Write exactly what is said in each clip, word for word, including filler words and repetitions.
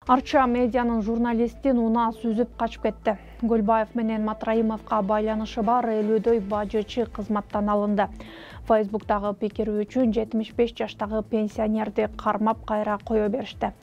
Арча медианын журналистин унаа сүзүп качып кетти. Гөлбаев менен Матраимовго байланышы бар элүүдөй бажычы кызматтан алынды. Фейсбуктагы пикири үчүн жетимиш беш жаштагы пенсионерди кармап кайра кое беришти.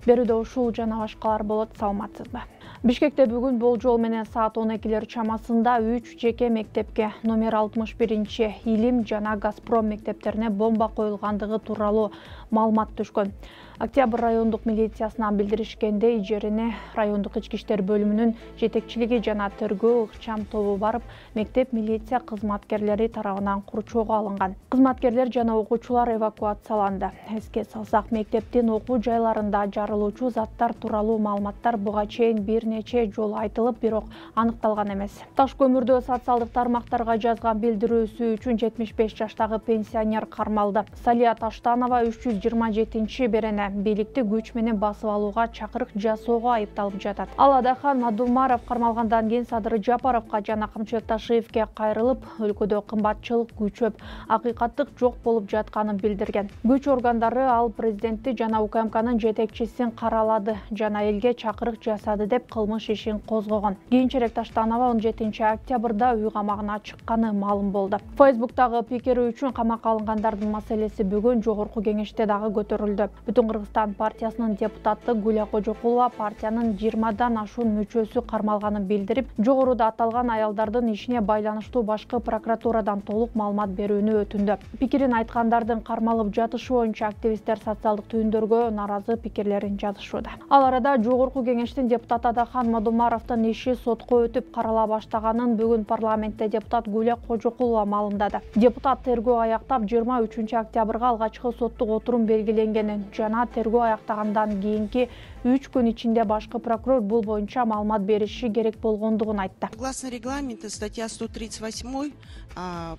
Берүүдө ушул жана башкалар болот, саламатсызбы? Бишкекте бүгүн болжол менен саат он экилер чамасында үч жеке мектепке номер алтымыш биринчи Илим жана Газпром мектептерине бомба коюлгандыгы тууралуу маалымат түшкөн. Октябрь райондук милициясына билдиришкендей, жерине райондук ички иштер бөлүмүнүн жетекчилиги жана тергөө ыкчам тобу барып, мектеп милиция кызматкерлери тарабынан курчоого алынган. Кызматкерлер жана окуучулар эвакуацияланды. Эске салсак, мектептин окуу жайларында жарылуучу заттар тууралуу маалыматтар буга чейин бир нече жолу айтылып, бирок аныкталган эмес. Таш көмүрдө социалдык тармактарга жазган билдирүүсү үчүн жетимиш беш жаштагы пенсионер кармалды. Салия Таштанова үч жүз жыйырма жетинчи берене бийликти күч менен басып алууга чакырык жасоого айыпталып жатат. Ал Адахан Мадумаров кармалгандан кийин Садыр Жапаровго жана Камчылык Ташиевге кайрылып, өлкөдө кымбатчылык күчөп, акыйкаттык жок болуп жатканын билдирген. Күч органдары ал президентти жана УКМКнын жетекчисин каралады жана элге чакырык жасады деп кылмыш ишин козгогон. Кийинчерээк Таштанова он жетинчи октябрда үй камагына чыкканы маалым болду. Фейсбуктагы пикири үчүн камакка алынгандардын маселеси бүгүн жогорку кеңеште дагы көтөрүлдү. Бүтүн Кыргызстан партиясынын депутаты Гүля Кожокулова партиянын жыйырмадан ашуун мүчөсү кармалганын билдирип, жогоруда аталган аялдардын ишине байланыштуу башкы прокуратурадан толук маалымат берүүнү өтүндү. Пикирин айткандардын кармалып жатышы боюнча активисттер социалдык түйүндөргө нааразы пикирлерин жазышууда. Ал арада жогорку кеңештин депутаты Адахан Мадумаровдун иши сотко өтүп карала баштаганын бүгүн парламентте депутат Гүля Кожокулова маалымдады. Депутат тергөө аяктап жыйырма үчүнчү октябрга алгачкы соттук отурум белгиленгенин жана тергөө аяктагандан кийинки үч күн ичинде башкы прокурор бул боюнча маалымат бериши керек болгондугун айтты. Согласно регламенту, статья сто тридцать восемь,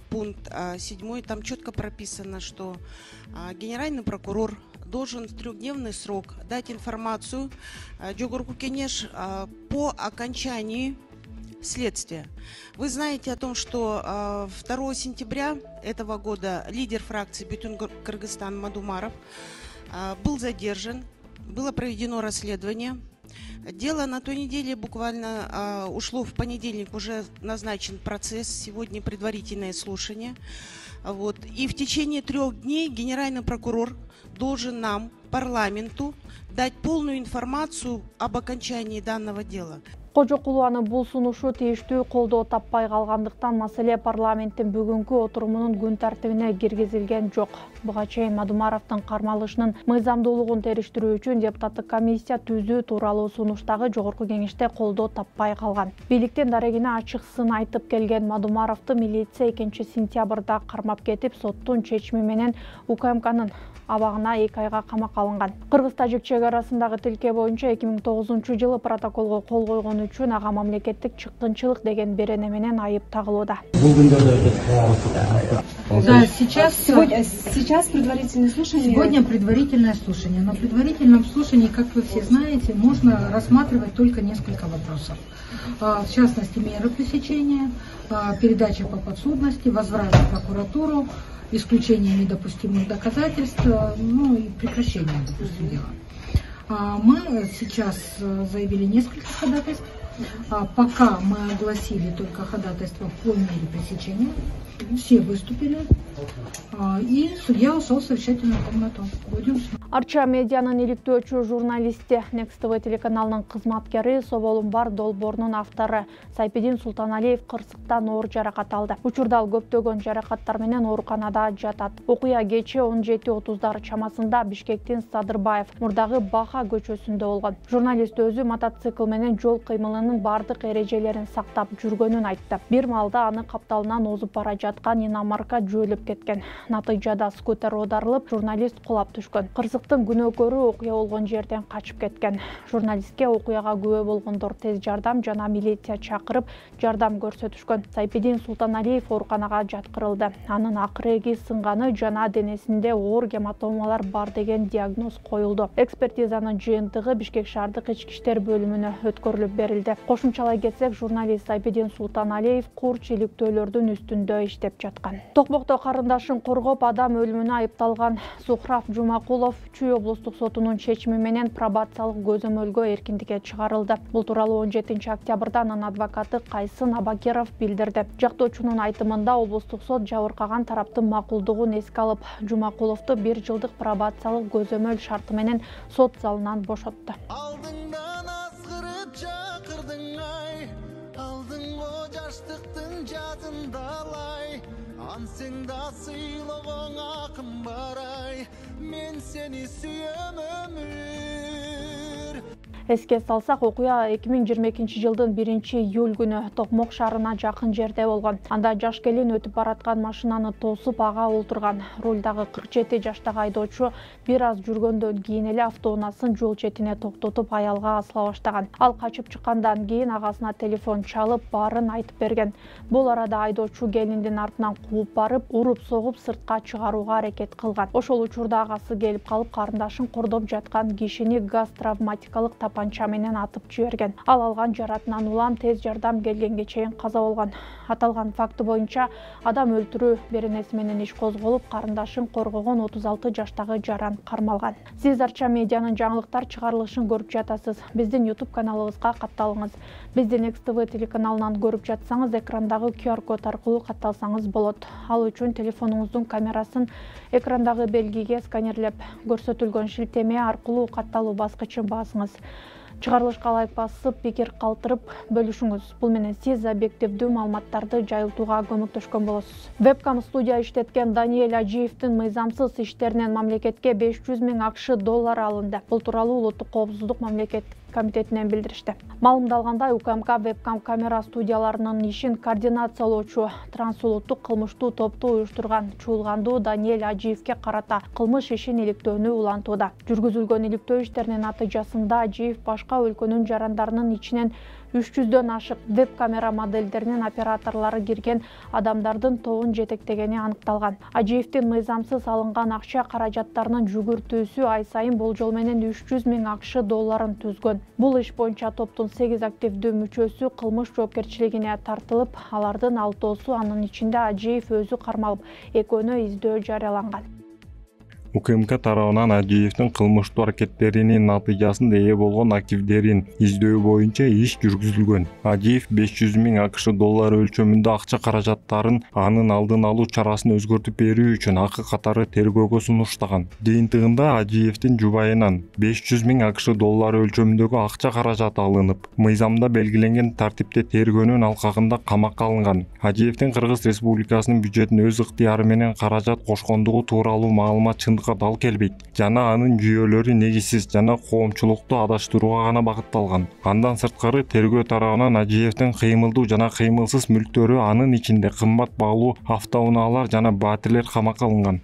пункт седьмой, там четко прописано, что генеральный прокурор должен в трехдневный срок дать информацию Жогорку Кенеш по окончании следствия. Вы знаете о том, что второго сентября этого года лидер фракции Бүтүн Кыргызстан Мадумаров был задержан, было проведено расследование. Дело на той неделе буквально а, ушло в понедельник, уже назначен процесс, сегодня предварительное слушание. Вот. И в течение трех дней генеральный прокурор должен нам, парламенту, дать полную информацию об окончании данного дела. Кожокулованын бул сунушу тийиштүү колдоо таппай калгандыктан маселе парламенттин бүгүнкү отурумунун күн тартибине киргизилген жок. Буга чейин Мадумаровдун кармалышынын мыйзамдуулугун териштирүү үчүн депутаттык комиссия түзүү тууралуу сунуштагы жогорку кеңеште колдоо таппай калган. Бийликтин дарегине ачык сын айтып келген Мадумаровду милиция экинчи сентябрда кармап кетип, соттун чечими менен УКМКнын абагына эки айга камакка алынган. Кыргыз-тажик чек арасындагы тилке боюнча эки миң тогузунчу жылы протоколго кол койгон үчүн ага мамлекеттик чыккынчылык деген берене менен айып тагылууда. Да, сейчас сегодня сейчас предварительное слушание. Сегодня предварительное слушание. На предварительном слушании, как вы все знаете, можно рассматривать только несколько вопросов. В частности, меры пресечения, передача по подсудности, возврат в прокуратуру, исключение недопустимых доказательств, ну и прекращение, допустим, дела. Мы сейчас заявили несколько ходатайств. Пока мы огласили только ходатайство по мере пресечения. Все выступили. И судья ушел в совещательную комнату. Будем. Арча медианын иликтөөчү журналисти, Next ти ви телеканалынын кызматкери, Соболумбар долбоорунун автору Сайпидин Султаналиев кырсыктан оор жаракат алды. Учурда ал көптөгөн жаракаттар менен ооруканада жатат. Окуя кечээ он жети отуздар чамасында Бишкектин Садырбаев мурдагы Баха көчөсүндө болгон. Журналист өзү мотоцикл менен жол кыймылынын бардык эрежелерин сактап жүргөнүн айтты. Бир маалда аны капталынан озуп бара жаткан иномарка жөөлөп кеткен. Натыйжада скутер оодарылып, журналист кулап түшкөн. Кырсыктын күнөөкөрү окуя болгон жерден качып кеткен. Журналистке окуяга күбө болгондор тез жардам жана милиция чакырып, жардам көрсөтүшкөн. Сайпидин Султаналиев ооруканага жаткырылды. Анын акыреги сынганы жана денесинде оор гематомалар бар деген диагноз коюлду. Экспертизанын жыйынтыгы Бишкек шаардык ички иштер бөлүмүнө өткөрүлүп берилди. билдиришти. Кошумчалай кетсек, журналист Айбеден Султаналиев курч иликтөөлөрдүн үстүндө иштеп жаткан. Токмокто карындашын коргоп адам өлүмүнө айыпталган Сухрав Жумакулов Чүй облустук сотунун чечими менен пробациялык көзөмөлгө эркиндикке чыгарылды. Бул тууралуу он жетинчи октябрда анын адвокаты Кайсын Абакеров билдирди. Жактоочунун айтымында облустук сот жабыркаган тараптын макулдугун эске алып, Жумакуловду бир жылдык пробациялык көзөмөл шарты менен сот залынан бошотту. Алдыңдан азгырып чакырдың ай, алдыңго жаштыктын жазындалай, ансың да сыйлогоң акым бар ай, мен сени сүйөм өмүр. Эске салсак, окуя эки миң жыйырма экинчи жылдын биринчи июль күнү Токмок шаарына жакын жерде болгон. Анда жаш келин өтүп бараткан машинаны тосуп ага олтурган. Рулдагы кырк жети жаштагы айдоочу бир аз жүргөндөн кийин эле автоунаасын жол четине токтотуп аялга асыла баштаган. Ал качып чыккандан кийин агасына телефон чалып, баарын айтып берген. Бул арада айдоочу келиндин артынан кууп барып, уруп-согуп сыртка чыгарууга аракет кылган. Ошол учурда агасы келип калып, карындашын кордоп жаткан кишини газ травматикалык тапанча менен атып жиберген. Ал алган жаратынан улам тез жардам келгенге чейин каза болгон. Аталган факты боюнча адам өлтүрүү беренеси менен иш козголуп, карындашын коргогон отуз алты жаштагы жаран кармалган. Сиз Арча медианын жаңылыктар чыгарылышын көрүп жатасыз. Биздин YouTube каналыбызга катталыңыз. Бизди Next ти ви телеканалынан көрүп жатсаңыз, экрандагы ку ар код аркылуу катталсаңыз болот. Ал үчүн телефонуңуздун камерасын экрандагы белгиге сканерлеп, көрсөтүлгөн шилтеме аркылуу катталуу баскычын басыңыз. Чыгарылышка лайк басып, пикир калтырып бөлүшүңүз. Бул менен сиз объективдүү маалыматтарды жайылтууга көмөктөшкөн болосуз. Вебкам студия иштеткен Даниэль Ажиевдин мыйзамсыз иштеринен мамлекетке беш жүз миң акш доллар алынды. Бул тууралуу Улуттук коопсуздук мамлекеттик комитетинен билдиришти. Маалымдалгандай, УКМК вебкам камера студияларынын ишин координациялоочу трансулуттук кылмыштуу топту уюштурган чуулгандуу Даниэль Ажиевге карата кылмыш ишин иликтөөнү улантууда. Жүргүзүлгөн иликтөө иштеринин натыйжасында Ажиев башка өлкөнүн жарандарынын ичинен үч жүздөн ашык веб-камера модельдеринин операторлору кирген адамдардын тобун жетектегени аныкталган. Ажиевдин мыйзамсыз алынган акча каражаттарынын жүгүртүүсү ай сайын болжол менен үч жүз миң акш долларын түзгөн. Бул иш боюнча топтун сегиз активдүү мүчөсү кылмыш жоопкерчилигине тартылып, алардын алтоосу, анын ичинде Ажиев өзү кармалып, экөөнө издөө жарыяланган. УКМК тарабынан Ажиевдин кылмыштуу аракеттеринин натыйжасында ээ болгон активдерин издөө боюнча иш жүргүзүлгөн. Ажиев беш жүз миң акш доллары өлчөмүндө акча каражаттарын анын алдын алуу чарасын өзгөртүп берүү үчүн акы катары тергөөгө сунуштаган. Жыйынтыгында Ажиевдин жубайынан беш жүз миң акш доллары өлчөмүндөгү акча каражаты алынып, мыйзамда белгиленген тартипте тергөөнүн алкагында камакка алынган. Ажиевдин Кыргыз Республикасынын бюджетине өз ыктыяры менен каражат кошкондугу тууралуу маалымат чындыкка дал келбейт жана анын жүйөлөрү негизсиз жана коомчулукту адаштырууга гана багытталган. Андан сырткары тергөө тарабынан Ажиевдин кыймылдуу жана кыймылсыз мүлктөрү, анын ичинде кымбат баалуу автоунаалар жана баатирлер камакка алынган.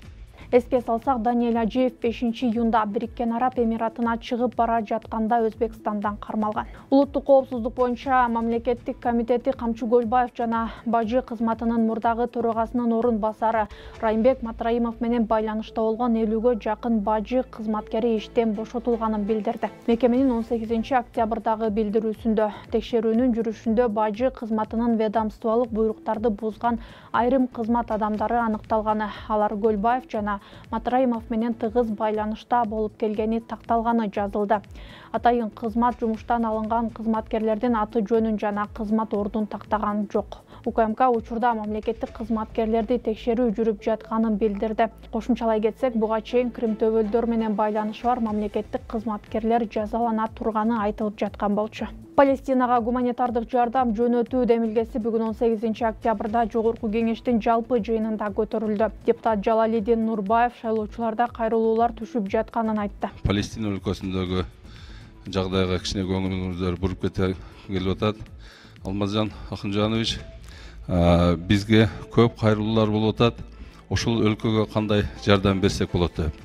Эске салсак, Даниэль Ажиев бешинчи июнда Бириккен Араб Эмиратына чыгып бара жатканда Өзбекстандан кармалган. Улуттук коопсуздук боюнча мамлекеттик комитети Камчы Көлбаев жана Бажы кызматынын мурдагы төрагасынын орун басары Райымбек Матраимов менен байланышта болгон элүүгө жакын Бажы кызматкери иштен бошотулганын билдирди. Мекеменин он сегизинчи октябрдагы билдирүүсүндө текшерүүнүн жүрүшүндө Бажы кызматынын ведомстволук буйруктарды бузган айрым кызмат адамдары аныкталганы, алар Көлбаев жана Матраимов менен тыгыз байланышта болуп келгени такталганы жазылды. Атайын кызмат жумуштан алынган кызматкерлердин аты жөнүн жана кызмат ордун тактаган жок. УКМК учурда мамлекеттик кызматкерлерди текшерүү жүрүп жатканын билдирди. Кошумчалай кетсек, буга чейин Крим төбөлдөр менен байланышы бар мамлекеттик кызматкерлер жазалана турганы айтылып жаткан болчу. Палестинага гуманитардык жардам жөнөтүү демилгеси бүгүн он сегизинчи октябрда Жогорку кеңештин жалпы жыйынында көтөрүлдү. Депутат Жалалидин Нурбаев шайлоочуларда кайрылуулар түшүп жатканын айтты. Палестина өлкөсүндөгү жагдайга кичине көңүлүңүздөр буруп келип атат. Алмазжан Акынжанович, бизге көп кайрылуулар болуп атат. Ошол өлкөгө кандай жардам берсек болот деп.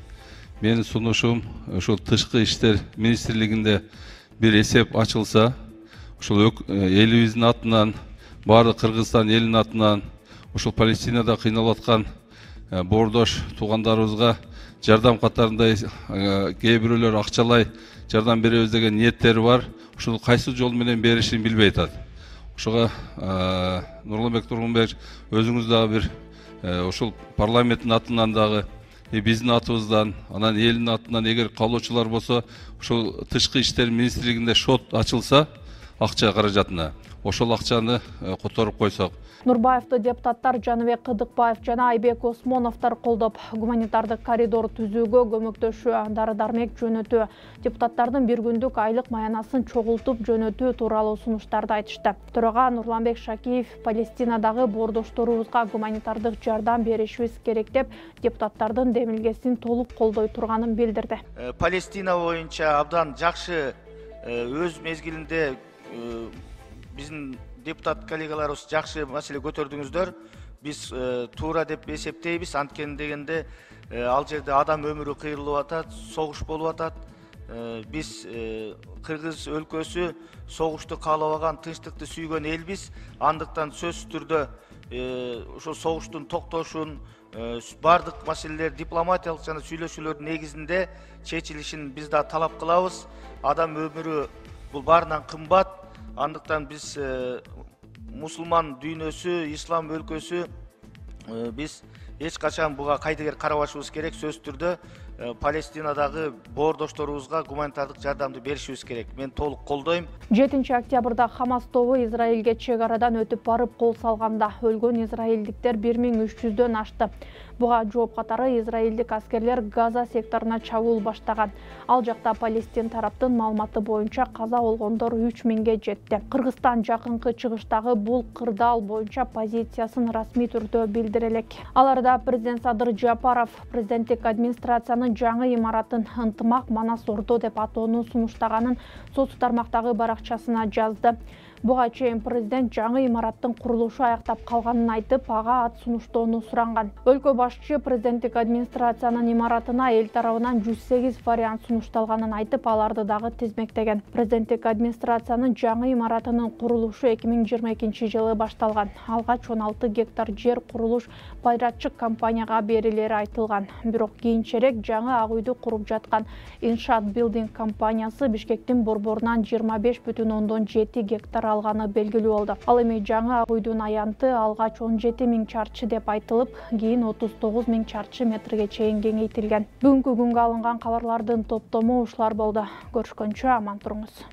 Менин сунушум ошол тышкы иштер министрлигинде бир эсеп ачылса, ошол элибиздин атынан, баардык Кыргызстан элинин атынан, ошол Палестинада кыйналып аткан боордош туугандарыбызга жардам катарында кээ бирөөлөр акчалай жардам беребиз деген ниеттери бар. ушул кайсы жол менен беришин билбей атат. Ошого Нурланбек Тургунбаевич өзүңүз дагы бир ушул парламенттин атынан дагы биздин атыбыздан, анан элдин атынан эгер каалоочулар болсо, ушул тышкы иштер министрлигинде шот ачылса акча каражатына, ошол акчаны которуп койсок. Нурбаевду депутаттар Жаныбек Кыдыкбаев жана Айбек Осмоновдор колдоп, гуманитардык коридор түзүүгө көмөктөшүү, дары-дармек жөнөтүү, депутаттардын бир күндүк айлык маянасын чогултуп жөнөтүү тууралуу сунуштарды айтышты. Төрага Нурланбек Шакиев Палестинадагы боордошторубузга гуманитардык жардам беришибиз керек деп, депутаттардын демилгесин толук колдой турганын билдирди. Палестина боюнча абдан жакшы өз мезгилинде биздин депутат коллегаларыбыз жакшы маселе көтөрдүңүздөр. Биз туура деп эсептейбиз. Анткени дегенде ал жерде адам өмүрү кыйрылып атат, согуш болуп атат. Биз Кыргыз өлкөсү согушту каалабаган, тынчтыкты сүйгөн элбиз. Андыктан сөзсүз түрдө ошол согуштун токтошун, бардык маселелер дипломатиялык жана сүйлөшүүлөрдүн негизинде чечилишин биз да талап кылабыз. Адам өмүрү бул баарынан кымбат. Андыктан биз мусулман дүйнөсү, ислам өлкөсү биз эч качан буга кайдыгер карабашыбыз керек. Сөзсүз түрдө Палестинадагы боордошторубузга гуманитардык жардамды беришибиз керек. Мен толук колдойм. жетинчи октябрда Хамас тобу Израилге чек арадан өтүп барып кол салганда өлгөн израилдиктер бир миң үч жүздөн ашты. Буга жооп катары израилдик аскерлер Газа секторуна чабуул баштаган. Ал жакта Палестин тараптын маалыматы боюнча каза болгондор үч миңге жетти. Кыргызстан жакынкы чыгыштагы бул кырдаал боюнча позициясын расмий түрдө билдире элек. Аларда президент Садыр Жапаров президенттик администрациянын жаңы имаратын ынтымак Манас Ордо деп атоону сунуштаганын соц тармактагы баракчасына жазды. Буга чейин президент жаңы имараттын курулушу аяктап калганын айтып, ага ат сунуштоону суранган. Өлкө башчы президенттик администрациянын имаратына эл тарабынан жүз сегиз вариант сунушталганын айтып, аларды дагы тизмектеген. Президенттик администрациянын жаңы имаратынын курулушу эки миң жыйырма экинчи жылы башталган. Алгач он алты гектар жер курулуш пайратчык компанияга берилери айтылган. Бирок кийинчерээк жаңы ак үйдү куруп жаткан Иншаат Билдинг компаниясы Бишкектин борборунан жыйырма беш бүтүн ондон жети гектар алганы белгилүү болду. Ал эми жаңы ак үйдүн аянты алгач он жети миң чарчы деп айтылып, кийин отуз тогуз миң чарчы метрге чейин кеңейтилген. Бүгүнкү күнгө алынган кабарлардын топтому ушулар болду. Көрүшкөнчө аман туруңуз.